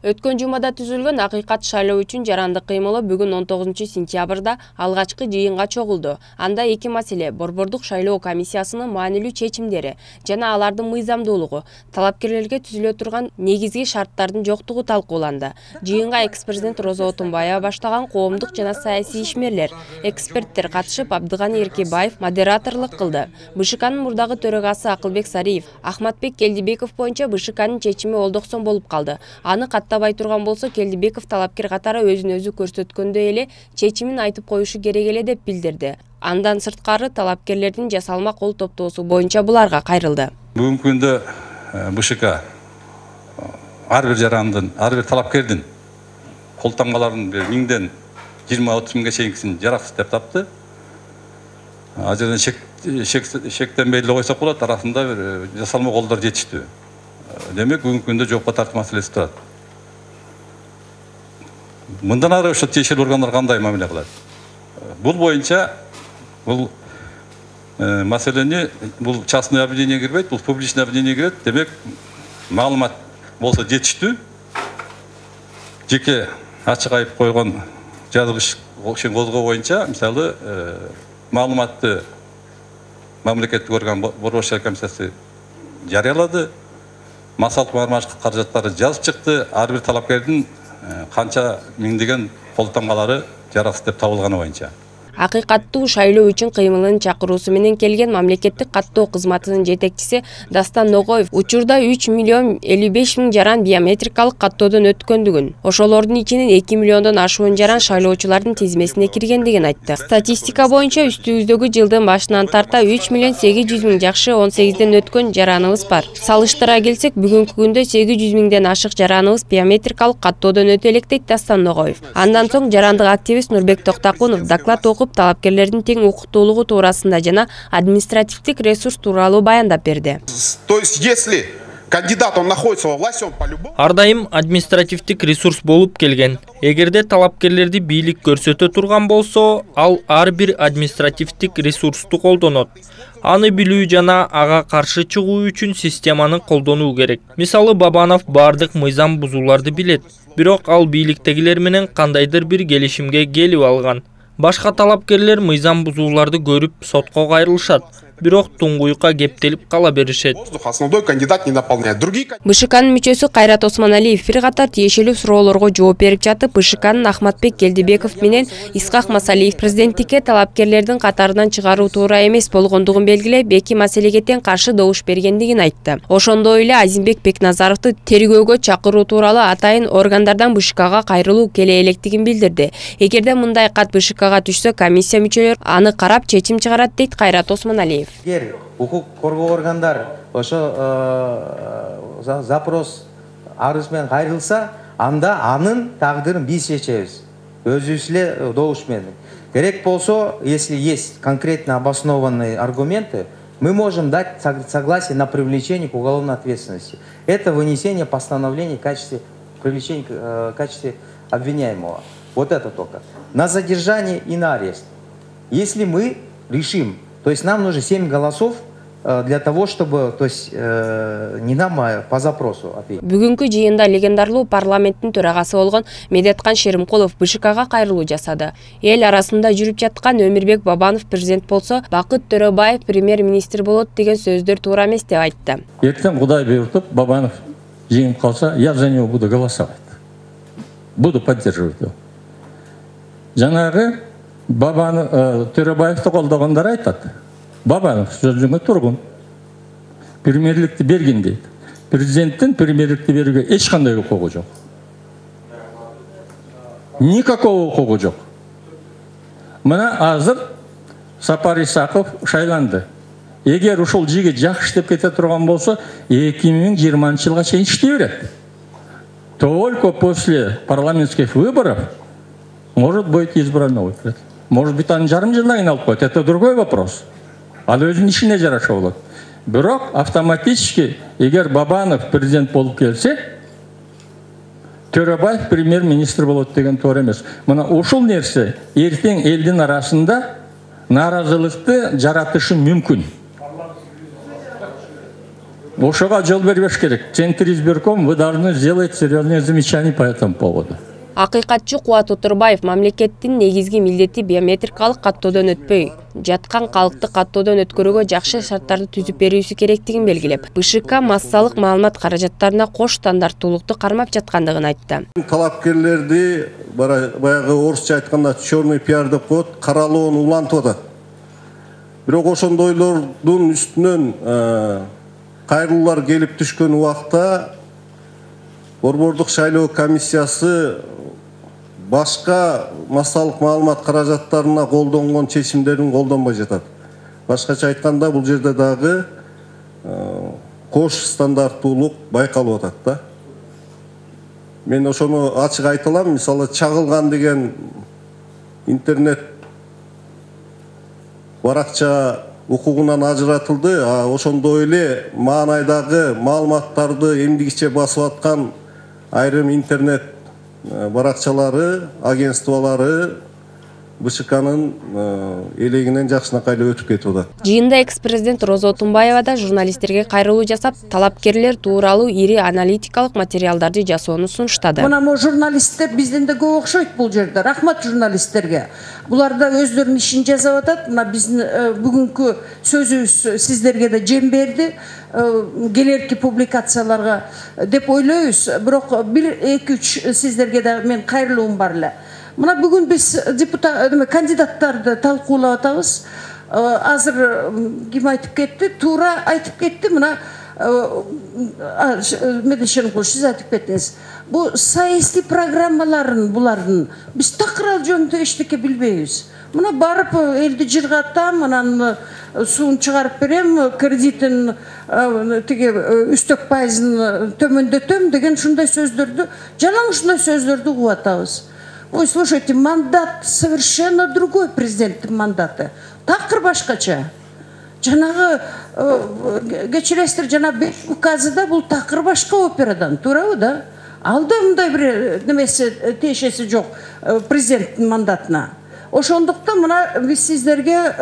Өткөн жумада түзүлгөн акыйкат шайлоо үчүн жарандык кыймылы бүгүн 19-сентябрда алгачкы жыйынга чогулду. Анда эки маселе: борбордук шайлоо комиссиясынын маанилүү чечимдери жана алардын мыйзамдуулугу, талапкерлерге түзүлө турган негизги шарттардын жоктугу талкууланды. Жыйынга экс-президент Роза Отунбаева баштаган коомдук жана саясий ишмерлер, эксперттер катышып, Абдыганы Эркебаев модераторлук кылды. БШКнын мурдагы төрагасы Акылбек Сариев, Ахматбек Келдибеков боюнча БШКнын чечими олдоксон болуп калды. Аны каттабай турган болсо, Келдибеков талапкер катары өзүн өзү көрсөткөндөй эле чечимин айтып коюшу керек эле деп билдирди. Андан сырткары талапкерлердин жасалма кол топтоосу боюнча буларга кайрылды. Бүгүнкү күндө БШК ар бир жарандын, ар бир талапкердин колтонмаларын 1000ден 20-30 миңге чейинкисин жараксыз деп тапты. Ал жерден шектенбей эле койсок болот, арасында бир жасалма колдор жетиштүү. Демек, бүгүнкү күндө жоопко тартуу маселеси турат. Мындан ары ошо тиешелүү органдар кандай мамиле кылат? Бул боюнча бул маселени бул частный обвинение кирбейт, бул публичный обвинение кирет. Демек, маалымат болсо жетиштүү. Жеке ачык айып койгон жазгыч козгоо боюнча, мисалы, маалыматты мамлекеттик орган борбор шайлоо комиссиясы жарыялады. Массалык маармачылык каражаттары жазып чыкты. Ар бир талапкердин канча миңдеген колтонмалары жараксыз деп табылганы боюнча. Акыйкаттуу шайлоо үчүн кыймылын чакыруусу менен келген мамлекеттик каттоо кызматынын жетекчиси Дастан Ногоев учурда 3 миллион 55 миң жаран биометрикалык каттоодон өткөндүгүн, ошолордун ичинен 2 миллиондон ашуун жаран шайлоочулардын тизмесине киргендигин айтты. Статистика боюнча үстүбүздөгү жылдын башынан тарта 3 миллион 800 миң жакшы 18ден өткөн жараныбыз бар. Салыштыра келсек, бүгүнкү күндө 800 миңден ашык жараныбыз биометрикалык каттоодон өтө элек дейт Дастан Ногоев. Андан соң жарандык активист Нурбек Токтакунов доклад окуп, талапкерлердин тең укуктуулугу туурасында жана административдик ресурс тууралуу баяндап берди. То есть, если кандидат он находится во власти, он по-любому. Ар дайым административдик ресурс болуп келген. Эгерде талапкерлерди бийлик көрсөтө турган болсо, ал ар бир административдик ресурсту колдонот. Аны билүү жана ага каршы чыгуу үчүн системаны колдонуу керек. Мисалы, Бабанов бардык мыйзам бузууларды билет, бирок ал бийликтегилер менен кандайдыр бир келишимге келип алган. Башка талапкерлер мыйзам бузууларды көрүп сотко кайрылышат, бирок туңгуюкка кептелип кала беришет. Основной кандидат не наполняет. БШКнын мүчөсү Кайрат Осмоналиев бир катар тиешелүү суроолорго жооп берип жатып, БШКнын Ахматбек Келдибеков менен Исхак Масалиев президенттикке талапкерлердин катарынан чыгаруу туура эмес болгондугун белгилеп, эки маселеге тең каршы добуш бергендигин айтты. Ошондой эле Азимбек Бекназаровду тергөөгө чакыруу тууралуу атайын органдардан БШКга кайрылуу келе электигин билдирди. Эгерде мындай кат БШКга түшсө, комиссия мүчөлөрү аны карап чечим чыгарат дейт Кайрат Осмоналиев. Эгер укук коргоо органдар ошо запрос арыз менен кайрылса, анда анын тагдырын биз чечебиз. Өзүбүз эле добуш менен. Керек болсо, если есть конкретно обоснованные аргументы, мы можем дать согласие на привлечение к уголовной ответственности. Это вынесение постановления в качестве привлечения в качестве обвиняемого. Вот это только. На задержание и на арест. Если мы решим, то есть нам нужно 7 голосов для того, чтобы, то есть не нам, а по запросу ответить. Бүгүнкү жыйында легендарлуу парламенттин төрагасы болгон Медеткан Шеримкулов БШКга кайрылуу жасады. Эл арасында жүрүп жаткан Өмүрбек Бабанов президент болсо, Бакыт Төрөбаев премьер-министр болот деген сөздөр туура эмес деп айтты. Эртең Кудай буйртуп, Бабанов жеңип калса, я за него буду голосовать. Буду поддерживать его. Жанагы Бабанов Төрөбаевди колдогондар айтат. Бабанов сөзүңө тургун. Премьерликти берген дейт. Президенттин премьерликти берүүгө эч кандай укугу жок. Никакого укугу жок. Мына азыр Сапар Исаков шайланды. Эгер ушул жигит жакшы иштеп кете турган болсо, 2020-жылга чейин иштей берет. Только после парламентских выборов может быть избран новый президент. Может быть, анын жарым жылдан кийин алып коет. Это другой вопрос. Ал өзүнүн ишине жараша болот. Бирок автоматически, эгер Бабанов президент болуп келсе, Төрөбаев премьер-министр болот деген туура эмес. Мына ушул нерсе эртең элдин арасында наразылыкты жаратышы мүмкүн. ошого жол бербеш керек. Центр избирком, вы должны сделать серьезные замечания по этому поводу. Акыйкатчы Кубат Утурбаев мамлекеттин негизги милдети биометрикалык каттоодон өтпөй жаткан калкты каттоодон өткөрүүгө жакшы шарттарды түзүп берүүсү керектигин белгилеп, БШК массалык маалымат каражаттарына кош стандарттуулукту кармап жаткандыгын айтты. Талапкерлерди баягы орусча айтканда черный пиар деп коет, каралоон улантып атат. Бирок ошондойлордун үстүнөн кайрылуулар келип түшкөн убакта Борбордук шайлоо комиссиясы башка массалык маалымат каражаттарына колдонгон чечимдерин колдонбой жатат. Башкача айтканда, бул жерде дагы кош стандарттуулук байкалып атат да. Мен ошону ачык айта алам. Мисалы, чагылган деген интернет баракча укугунан ажыратылды, ошондой эле маанайдагы маалыматтарды эмдигиче басып аткан айрым интернет баракчалары, агентстволору БШКнын элегинен жакшынакай эле өтүп кетип атат. Жыйында экс-президент Роза Отунбаева да журналисттерге кайрылуу жасап, талапкерлер тууралуу ири аналитикалык материалдарды жасоону сунуштады. Мына журналисттер бизден да көп окшойт бул жерде. Рахмат журналисттерге. Булар да өздөрүнүн ишин жасап атат. Мына биздин бүгүнкү сөзүбүз сиздерге да жем берди. Келерки публикацияларга деп ойлойбуз. Бирок 1-2-3 сиздерге да мен кайрылуум бар эле. Мына бүгүн биз кандидаттарды талкуулап атабыз. Азыр ким айтып кетти? Туура айтып кетти. Мына Медешенкул, сиз айтып кеттиңиз. Бу саясий программаларын булардын биз такыр жөнүндө эчтеке билбейбиз. Мына барып элди жыргатам, анан суун чыгарып берем, кредитин тиги үстөк пайызын төмөндөтөм деген ушундай сөздөрдү, жалаң ушундай сөздөрдү угуп атабыз. Ой, слушайте, мандат совершенно другой, президенттин мандаты. Такыр башкача. Жанагы кечиресиздер, жана 5 указыда бул такыр башка операдан, туурабы да? Алда мындай бир немеси тиешеси жок президенттин мандатына. Ошондуктан мына биз сиздерге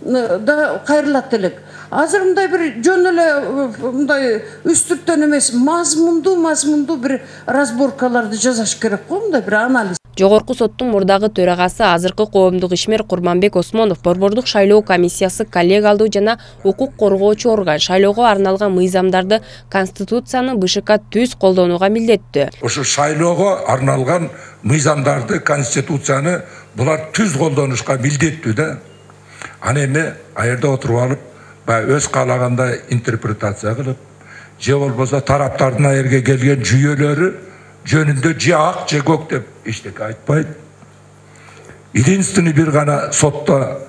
да кайрылат элек. Азыр мындай бир жөн эле мындай үстүртөн эмес, мазмундуу бир разборкаларды жасаш керек го, мындай бир анализ. Жогорку соттун мурдагы төрагасы азыркы коомдук ишмер Курманбек Осмонов Борбордук шайлоо комиссиясы коллегиалдуу жана укук коргоочу орган шайлоого арналган мыйзамдарды Конституцияны БШК түз колдонууга милдеттүү. Ошо шайлоого арналган мыйзамдарды, Конституцияны булар түз колдонушка милдеттүү да. Аны эми аерде отуруп алып, өз каалагандай интерпретация кылып, же болбосо тараптардын аерге келген жүйөлөрү жөнүндө же ак же көк деп эчтеке айтпайт. Единственный бир гана сотто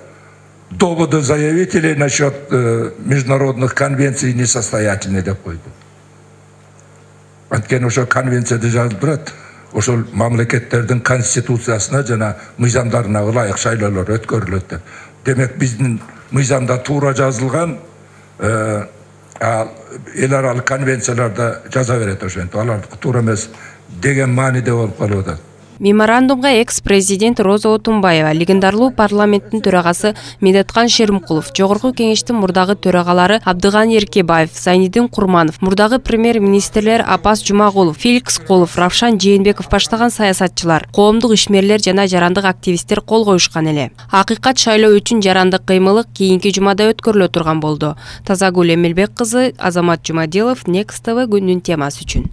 доводы заявителей насчет международных конвенций несостоятельны деп койду. Анткени ошо конвенцияда жазылып турат, ошол мамлекеттердин конституциясына жана мыйзамдарына ылайык шайлоолор өткөрүлөт деп. Демек биздин мыйзамда туура жазылган эл аралык конвенцияларда жаза берет ошентип, алардыкы туура эмес деген мааниде болуп калып атат. Меморандумга экс-президент Роза Отунбаева, легендарлуу парламенттин төрагасы Медеткан Шеримкулов, жогорку кеңештин мурдагы төрагалары Абдыган Эркебаев, Зайнидин Курманов, мурдагы премьер-министрлер Апас Жумагулов, Феликс Колов, Равшан Жээнбеков баштаган саясатчылар, коомдук ишмерлер жана жарандык активисттер кол коюшкан эле. Акыйкат шайлоо үчүн жарандык кыймылы кийинки жумада өткөрүлө турган болду. Тазагүл Эмелбек кызы, Азамат Жумадилов, Next TV күндүн темасы үчүн.